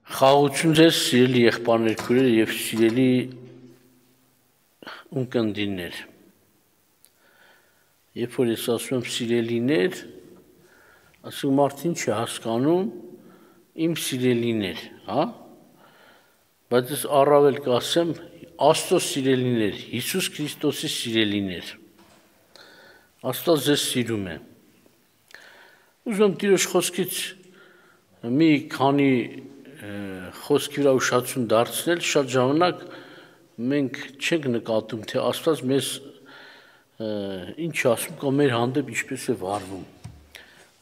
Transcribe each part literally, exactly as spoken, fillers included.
Խաղաղություն ձեզ սիրելի եղբայրներ, քույրեր եւ սիրելի ունկնդիրներ։ Երբ որ ես ասում եմ սիրելիներ, ասում մարդին չի հասկանում իմ սիրելիներ, հա? Բայց ես առավել կասեմ Աստծո սիրելիներ, Հիսուս Քրիստոսի սիրելիներ։ Աստված ձեզ սիրում է։ Ուզում եմ Տիրոջ խոսքից մի քանի խոսքի վրա ուշադրություն դարձնել, շատ ժամանակ մենք չենք նկատում, թե Աստված մեզ ինչ ասում կամ մեր հանդեպ ինչպես է վարվում։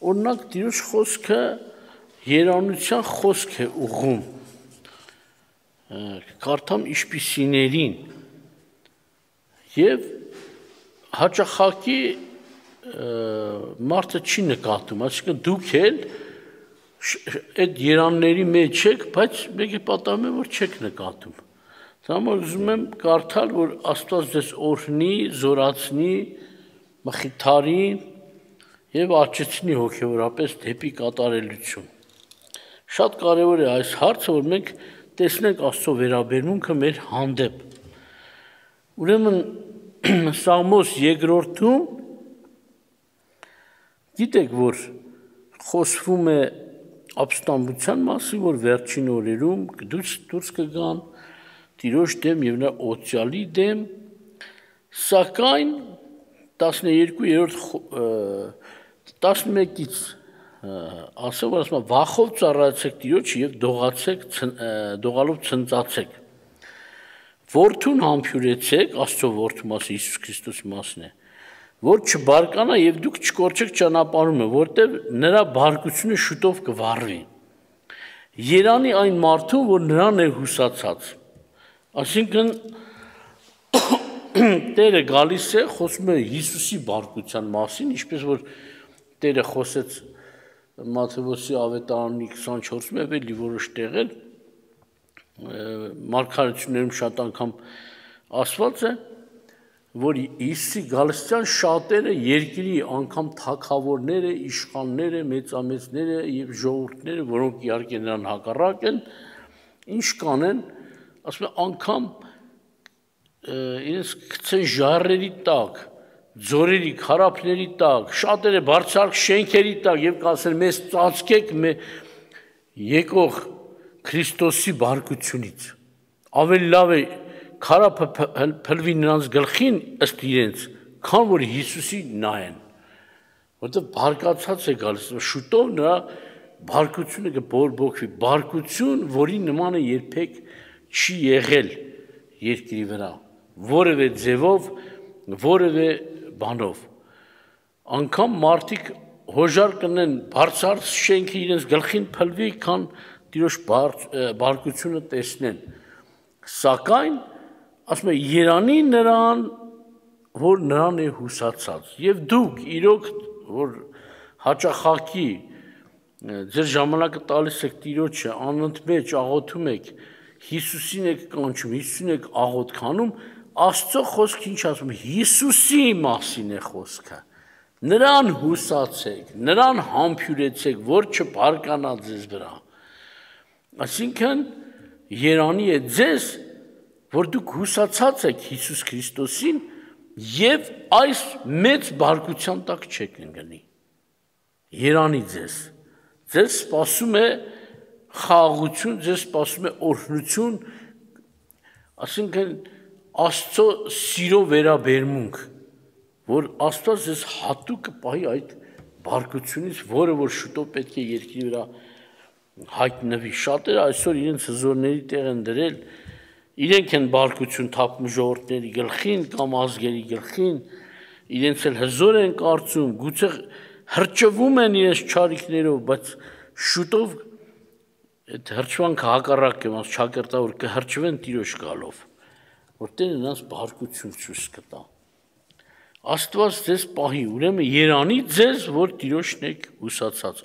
Օրինակ Տիրոջ խոսքը երանության խոսք է ուղղում։ Կարդամ ինչպիսիներին եւ հաճախակի մարդը չի նկատում, այսինքն դուք էլ այդ երանների մեջ եք, բայց մեկ է պատահում է, որ չեք նկատում։ Սամոլ ուզում եմ կարդալ, որ Աստված ձեզ օրհնի, զորացնի, մխիթարի եւ աճեցնի հոգեորապես դեպի կատարելություն։ Շատ կարևոր է այս հարցը, որ մենք տեսնենք Աստծո վերաբերմունքը մեր հանդեպ։ Ուրեմն Սաղմոս երկրորդում գիտեք, որ խոսվում է ապստամբության մասին, որ վերջին օրերում դուրս կգան Տիրոջ դեմ եւ նրա օծյալի դեմ, սակայն տասներկուերորդ տասնմեկից ասում որ ասում վախով ծառայեցեք Տիրոջը եւ դողացեք դողալով ցնծացեք։ Որդուն համբյուրեցեք, Աստծո որդու մասը Հիսուս Քրիստոսի մասն է, որ չբարկանա եւ դուք չկորչեք ճանապարհումը, որտեղ նրա բարկությունը շուտով կվառվի։ Երանի այն մարդուն, որ նրան է հուսացած։ Այսինքն Տերը գալիս է, խոսում է Հիսուսի բարկության մասին, ինչպես որ Տերը խոսեց Մատթեոսի ավետարանի քսանչորսում եւ էլի որոշ տեղեր մարգարեություններում շատ անգամ ասված է, որ Հիսուսի գալստյան շատերը երկրի անգամ թագավորները, իշխանները, մեծամեծները եւ ժողովուրդները, որոնք իհարկե նրան հակառակ են, ինչ կանեն, ասում են անգամ իրենց գցեն ժառերի տակ, ձորերի, քարափների տակ, շատերը բարձրակ շենքերի տակ եւ կասեն մեզ ծածկեք եկող Քրիստոսի բարկությունից։ Ավելի լավ է քարափը փլվի նրանց գլխին ըստ իրենց, քան որ Հիսուսի նայեն, որտեղ բարկացած է գալիս, շուտով նրա բարկությունը կբորբոքվի, բարկություն, որի նմանը երբեք չի եղել երկրի վրա, որևէ ձևով, որևէ բանով։ Անկամ մարդիկ հոժար կնեն բարձր շենքը իրենց գլխին փլվի, քան Տիրոջ բարկությունը տեսնեն։ Սակայն ասում է երանի նրան, որ նրան է հուսացած, եւ դուք իրոք որ հաճախակի ձեր ժամանակը տալիս եք Տիրոջը, անընդմեջ աղոթում եք, Հիսուսին եք կանչում, Հիսուսին եք աղոթք անում, Աստծո խոսքը ինչ ասում է, Հիսուսի մասին է խոսքը։ Նրան հուսացեք, նրան համբյուրեցեք, որ չբարկանա ձեզ վրա։ Այսինքն երանի է ձեզ, որ դուք հուսացած եք Հիսուս Քրիստոսին եւ այս մեծ բարկության տակ չեք ընկնի։ Երանի ձեզ։ Ձեզ սպասում է խաղաղություն, ձեզ սպասում է օրհնություն, այսինքն Աստծո սիրո վերաբերմունք, որ Աստված ձեզ հատուկ կպահի այդ բարկությունից, որը որ շուտով պետք է երկրի վրա հայտնվի։ Շատերը այսօր իրենց հզորների տեղ են դրել, իրենք են բարկություն թափում ժողովուրդների գլխին կամ ազգերի գլխին, իրենց էլ հզոր են կարծում, գուցե հրճվում են իրենց չարիքներով, բայց շուտով այդ հրճվանքը հակառակ է, ոնց ճակերտավոր կհրճվեն Տիրոջ գալով, որտեղ նրանց բարկություն ցույց կտա։ Աստված ձեզ պահի, ուրեմն երանի ձեզ, որ Տիրոջն եք հուսացած,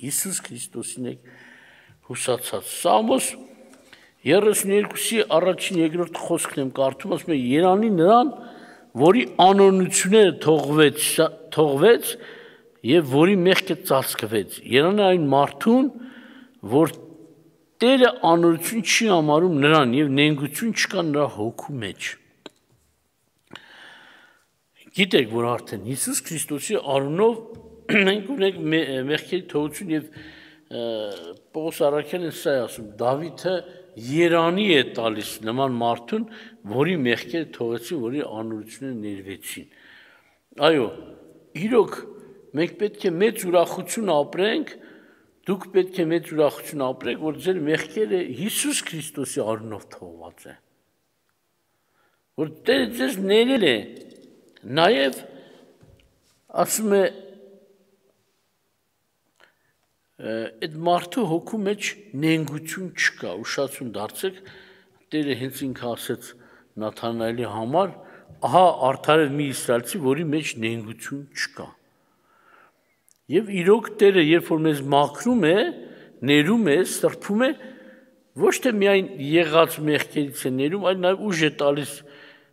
Հիսուս Քրիստոսին եք հուսացած։ Սաղմոս երեսունյոթի առաջին երկրորդ խոսքն եմ կարդում, ասում է երանի նրան, որի անօրենությունները թողվեց, թողվեց եւ որի մեղքը ծածկվեց։ Երանի այն մարդուն, որ Տերը անօրություն չի համարում նրան եւ նենգություն չկա նրա հոգու մեջ։ Գիտեք, որ արդեն Հիսուս Քրիստոսի առունով մենք ունենք մեղքերի թողություն եւ Պողոս առաքյալն սա է ասում, Դավիթը երանի է տալիս նման մարդուն, որի մեղքերը թողեցին, որի անօրությունները ներվեցին։ Այո, իրոք մենք պետք է մեծ ուրախություն ապրենք, դուք պետք է մեծ ուրախություն ապրեք, որ ձեր մեղքերը Հիսուս Քրիստոսի առունով թողված է։ Որ Տերը ձեզ ներել է, նաև ասում է այդ մարդու հոգու մեջ նենգություն չկա, ուշացում դարձեք, Տերը հենց ինքը ասեց Նաթանայելի համար, ահա արդար է մի իսրայելցի, որի մեջ նենգություն չկա։ Եվ իրոք Տերը, երբ որ մեզ մաքրում է, ներում է, սրբում է, ոչ թե միայն եղած մեղքերից է ներում, այլ նաև ուժ է տալիս,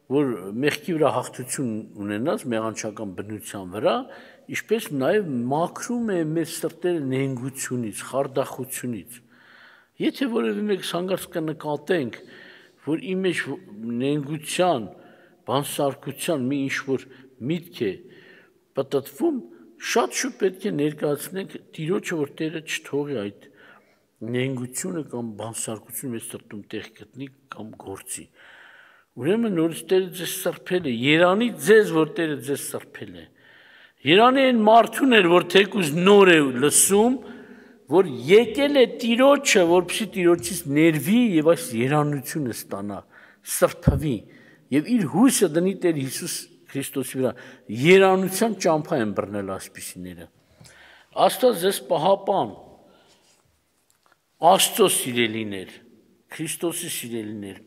որ մեղքի վրա հաղթություն ունենաս, մեղանչական բնության վրա, ինչպես նաև մաքրում է մեր սրտերը նենգությունից, խարդախությունից։ Եթե որևէ մեկ հանգարց կնկատենք, որ իմ մեջ նենգության, բանսարկության մի ինչ-որ միտք է պտտվում, շատ շուտ պետք է ներկայացնենք Տիրոջը, որ Տերը չթողի այդ նենգությունը կամ բանսարկությունը մեր սրտում տեղ գտնի կամ գործի։ Ուրեմն նորից Տերը ձեզ սրբել է, երանի ձեզ, որ Տերը ձեզ սրբել է։ Երանի այն մարդուն էր, որ թեկուզ նոր է լսում, որ եկել է Տիրոջը, որպեսզի Տիրոջից ներվի եւ այս երանությունը ստանա, սրբվի եւ իր հույսը դնի Տեր Հիսուս Քրիստոսի վրա։ Երանության ճամփա են բռնել ասպիսիները։ Աստված ձեզ պահապան, Աստծո սիրելիներ, Քրիստոսի սիրելիներ։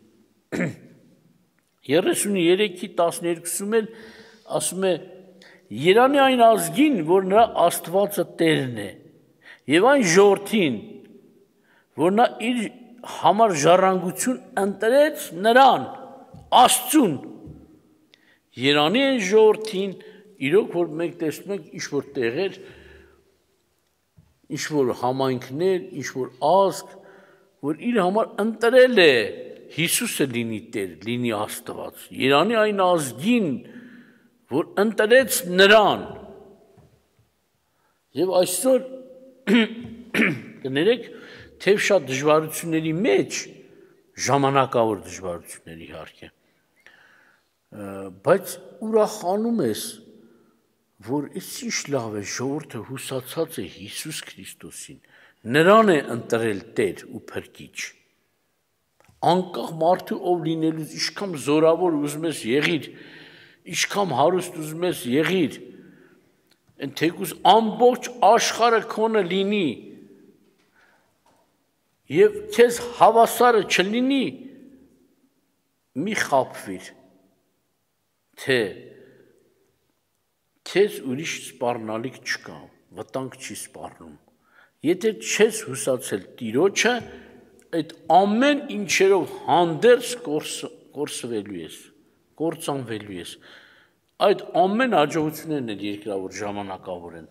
երեսուններեքի տասներկուսում էլ ասում է. Երանի այն ազգին, որ նրա Աստվածը Տերն է, եւ այն ժողովրդին, որ նա իր համար ժառանգություն ընտրեց նրան, Աստծուն։ Երանի այն ժողովրդին, իրոք որ մենք տեսնում ենք ինչ-որ տեղեր, ինչ-որ համայնքներ, ինչ-որ ազգ, որ իր համար ընտրել է Հիսուսը լինի Տեր, լինի Աստված։ Երանի այն ազգին, որ ընտրեց նրան։ Եվ այսօր կներեք, թեև շատ դժվարությունների մեջ, ժամանակավոր դժվարությունների իհարկե, բայց ուրախանում ես, որ այս ինչ լավ է, ժողովուրդը հուսացած է Հիսուս Քրիստոսին, նրան է ընտրել Տեր ու Փրկիչ։ Անկախ մարդու ով լինելուց, ինչքան զորավոր ուզում ես եղիր, ինչքան հարուստ ուզում ես եղիր, թեկուզ ամբողջ աշխարհը քոնը լինի եւ քեզ հավասարը չլինի, մի խաբվիր, թե քեզ ուրիշ սպառնալիք չկա, վտանգ չի սպառնում։ Եթե չես հուսացել Տիրոջը, այդ ամեն ինչերով հանդերձ կորսվելու ես, կործանվելու ես։ Այդ ամեն հաջողություններն էլ երկրավոր ժամանակավոր են։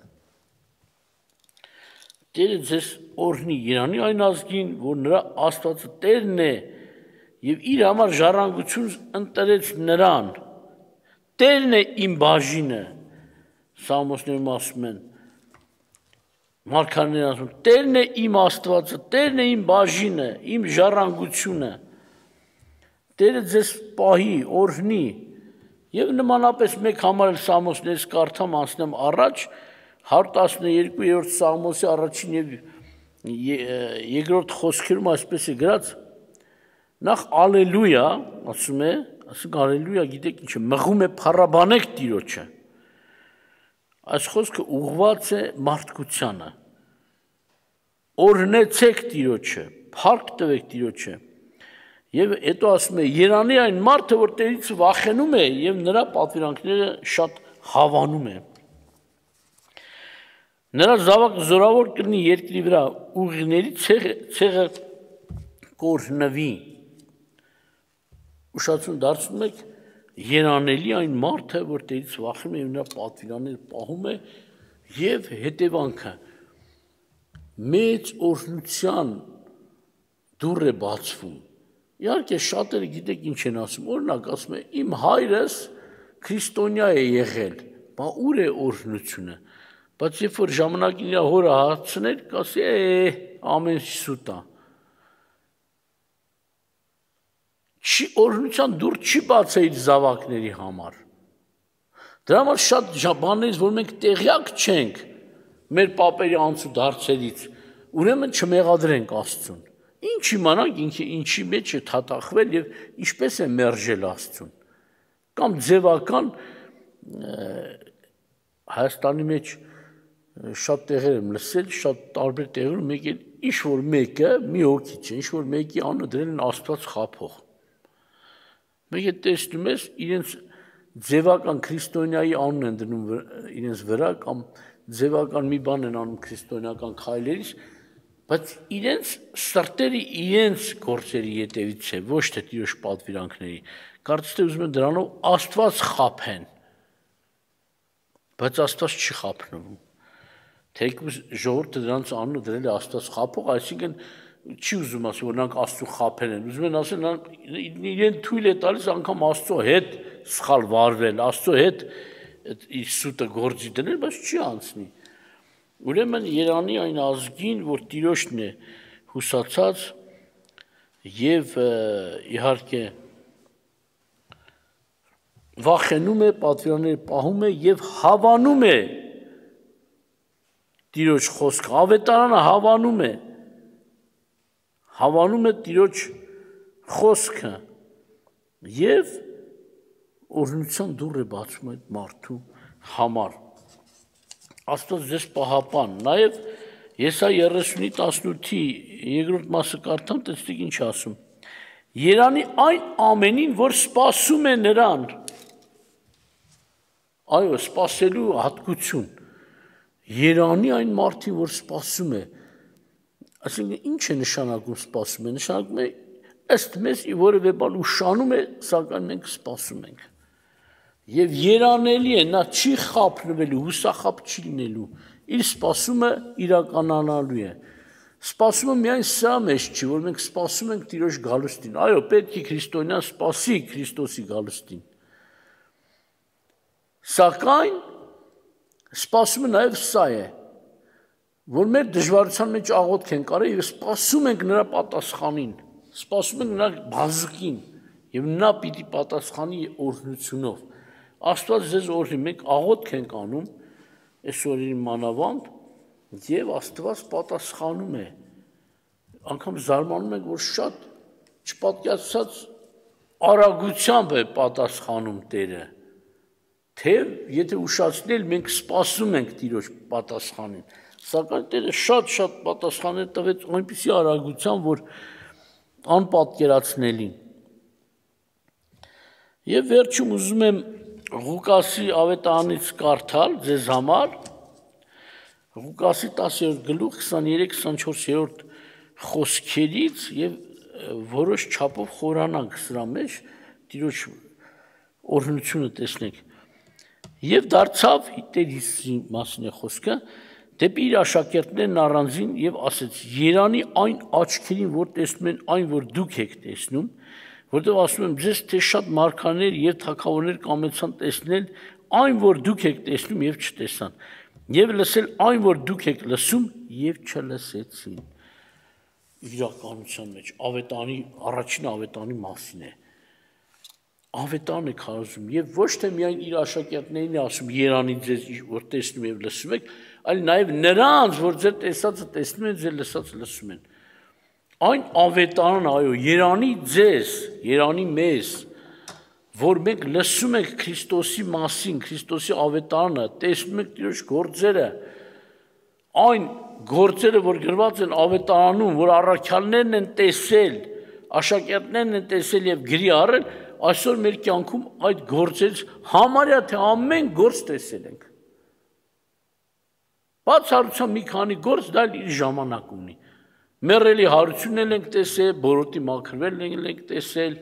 Տերը ձեզ օրհնի, երանի այն ազգին, որ նրա Աստվածը Տերն է եւ իր համար ժառանգություն ընտրեց նրան։ Տերն է իմ բաժինը, Սաղմոսներում ասում են, մարգարեներն ասում, Տերն է իմ Աստվածը, Տերն է իմ բաժինը, իմ ժառանգությունը։ Տերը ձեզ պահի, օրհնի։ Եվ նմանապես մեկ համար էլ Սաղմոսներից կարդամ, անցնեմ առաջ, հարյուր տասներկուերորդ Սաղմոսի առաջին եւ երկրորդ խոսքերում այսպես է գրած. նախ ալելույա, ասում է, ասում ալելույա, գիտեք ինչ է, մղում է փառաբանեք Տիրոջը։ Այս խոսքը ուղղված է մարդկությանը։ Օրհնեցեք Տիրոջը, փառք տվեք Տիրոջը։ Եվ հետո ասում է, երանի այն մարդը, որ Տերից վախենում է եւ նրա պատվիրանքները շատ հավանում է։ Նրա զավակը զորավոր կլինի երկրի վրա, ուղիների ցեղը կօրհնվի։ Ուշացում դարձնում եք, երանելի այն մարդը, որ Տերից վախենում է եւ նրա պատվիրանները պահում է, եւ հետևանքը մեծ օրհնության դուռ է բացվում։ Իհարկե շատերը գիտեք ինչ են ասում, օրինակ ասում է իմ հայրս քրիստոնյա է եղել, բա ուր է օրհնությունը։ Բայց երբ որ ժամանակին իր հորը հարցներ, կասի է ամեն սուտ է։ Չի օրհնության դուռ չի բացել իր զավակների համար։ Դրա համար շատ բաներից, որ մենք տեղյակ չենք մեր պապերի անցուդ հարցերից, ուրեմն չմեղադրենք Աստծուն։ Ինչ իմանանք ինքը ինչի մեջ է թաթախվել եւ ինչպես է մերժել Աստծուն։ Կամ ձևական Հայաստանի մեջ շատ տեղեր եմ լսել, շատ տարբեր տեղերում մեկ էլ ինչ որ մեկը մի հոգի չէ, ինչ որ մեկի անունը դրել են Աստված խափող։ Մեկը տեսնում ես իրենց ձևական քրիստոնյայի անուն են դնում իրենց վրա կամ ձևական մի բան են անում քրիստոնեական քայլերից, բայց իրենց սրտերը իրենց գործերի ետևից է, ոչ թե Տիրոջ պատվիրանքների։ Կարծես թե ուզում են դրանով Աստված խափեն, բայց Աստված չի խափնվում։ Թեկուզ ժողովուրդը դրանց անունը դրել է Աստված խափող, այսինքն չի ուզում ասել, որ նրանք Աստծո խափեն են, ուզում են ասել, իրեն թույլ է տալիս անգամ Աստծո հետ սխալ վարվել, Աստծո հետ իր սուտը գործի դնել, բայց չի անցնի։ Ուրեմն Երանի այն ազգին, որ Տիրոջն է հուսացած եւ իհարկե վախենում է, պատվիրանները պահում է եւ հավանում է Տիրոջ խոսքը, ավետարանը հավանում է, հավանում է Տիրոջ խոսքը եւ օրհնության դուռ է բացում այդ մարդու համար։ Աստված ձեզ պահապան, նաև Եսայի երեսունի տասնութի երկրորդ մասը կարդամ, տեսեք ինչ ասում։ Երանի այն ամենին, որ սպասում է նրան, այո, սպասելու հատկություն, երանի այն մարդին, որ սպասում է, այսինքն ինչ է նշանակում սպասում է, նշանակում է ըստ մեզ որևէ բան ուշանում է, սակայն մենք սպասում ենք։ Եվ երանելի է, նա չի խափնվելու, հուսախապ չի լինելու, իր սպասումը իրականանալու է։ Սպասումը միայն սա մեջ չի, որ մենք սպասում ենք Տիրոջ գալուստին, այո, պետք է քրիստոնյան սպասի Քրիստոսի գալուստին։ Սակայն սպասումը նաև սա է, որ մեր դժվարության մեջ աղոթք ենք արել եւ սպասում ենք նրա պատասխանին, սպասում ենք նրա բազկին եւ նա պիտի պատասխանի օրհնությունով։ Աստված ձեզ օրհնի, մենք աղոթք ենք անում այսօրին մանավանդ եւ Աստված պատասխանում է։ Անկամ զարմանում ենք, որ շատ չպատկացած արագությամբ է պատասխանում Տերը։ Թե եթե ուշացնել մենք սպասում ենք Տիրոջ պատասխանին, սակայն Տերը շատ-շատ պատասխաններ տվեց այնպիսի արագությամբ, որ անպատկերացնելին։ Եվ վերջում ուզում եմ Ղուկասի ավետարանից կարդալ ձեզ համար Ղուկասի տասերորդ գլուխ քսաներեք քսանչորսերորդ խոսքերից եւ որոշ չափով խորանանք սրա մեջ Տիրոջ օրհնությունը տեսնենք։ Եվ դարձավ Տերիսի մասին է խոսքը, դեպի իր աշակերտներն առանձին եւ ասեց. Երանի այն աչքերին, որ տեսնում են այն, որ դուք եք տեսնում, որտեղ ասում եմ ձեզ, թե շատ մարգարեներ եւ թագավորներ կամեցան տեսնել այն, որ դուք եք տեսնում եւ չտեսան, եւ լսել այն, որ դուք եք լսում եւ չլսեցին։ Իրականության մեջ ավետանի առաջին ավետանի մասին է։ Ավետարն է քարոզում եւ ոչ թե միայն իր աշակերտներին է ասում Երանի ձեզ որ տեսնում եւ լսում եք, այլ նաեւ նրանց, որ ձեր տեսածը տեսնում են, ձեր լսածը լսում են։ Այն ավետարն, այո, Երանի ձեզ, Երանի մեզ, որ մենք լսում ենք Քրիստոսի մասին, Քրիստոսի ավետարանը, տեսնում ենք Տիրոջ գործերը, այն գործերը, որ գրված են ավետարանում, որ առաքյալներն են տեսել, աշակերտներն են տեսել եւ գրի առել, այսօր մեր կյանքում այդ գործից համարյա թե ամեն գործ տեսել ենք։ Բացառությամբ մի քանի գործ դա իր ժամանակ ունի։ Մեռելի հարությունն ենք տեսել, բորոտի մաքրվելն ենք տեսել,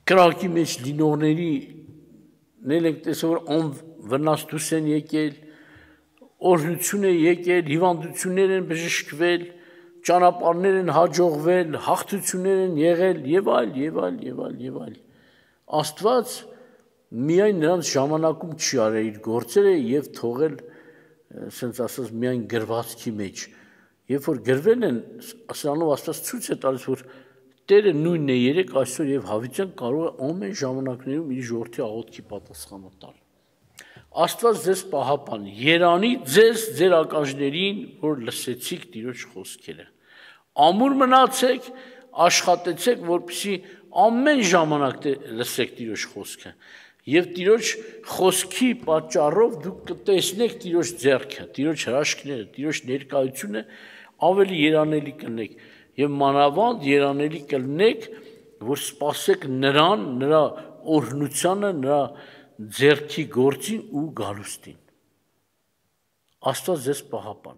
կրակի մեջ լինողներին ենք տեսել, որ անվնաս դուրս են եկել, օրհնություն է եկել, հիվանդություններ են բժշկվել, ճանապարհներ են հաջողվել, հաղթություններ են եղել եւ այլ, եւ այլ, եւ այլ, եւ այլ։ Աստված միայն նրանց ժամանակում չի արել իր գործերը եւ թողել, ասենց ասած, միայն գրվածքի մեջ։ Երբ որ գրվել են, սրանով Աստված ցույց է տալիս, որ Տերը նույնն է երեք, այսօր եւ հավիտյան կարող է ամեն ժամանակներում իր ժողովրդի աղոթքի պատասխանը տալ։ Աստված ձեզ պահապան, երանի ձեզ ձեր ականջներին, որ լսեցիք Տիրոջ խոսքերը։ Ամուր մնացեք, աշխատեցեք, որպեսզի ամեն ժամանակ լսեք Տիրոջ խոսքը։ Եվ Տիրոջ խոսքի պատճառով դուք կտեսնեք Տիրոջ ձեռքը, Տիրոջ հրաշքները, Տիրոջ ներկայությունը ավելի երանելի կլինեք եւ մանավանդ երանելի կլինեք, որ սпасեք նրան, նրա օրհնությանը, նրա ձեռքի գործին ու գալուստին։ Աստված ձեզ պահապան։